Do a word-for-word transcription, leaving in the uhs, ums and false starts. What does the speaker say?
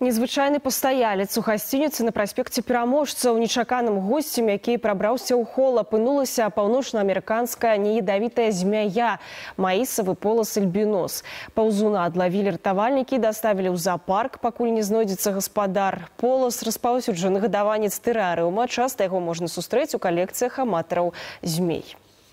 Незвычайны пастаялец у гасцініцы на праспекце Пераможцаў нечаканым госцем, які прабраўся ў хол, апынулася паўночнаамерыканская неядавітая змяя маісавы полас альбінос. Паўзуна адлавілі ратавальнікі, даставілі ў зоапарк, пакуль не знойдзецца гаспадар. Полас распаўсюджаны гадаванец тэрарыума, часта яго можна сустрэць у калекцыях аматараў змей.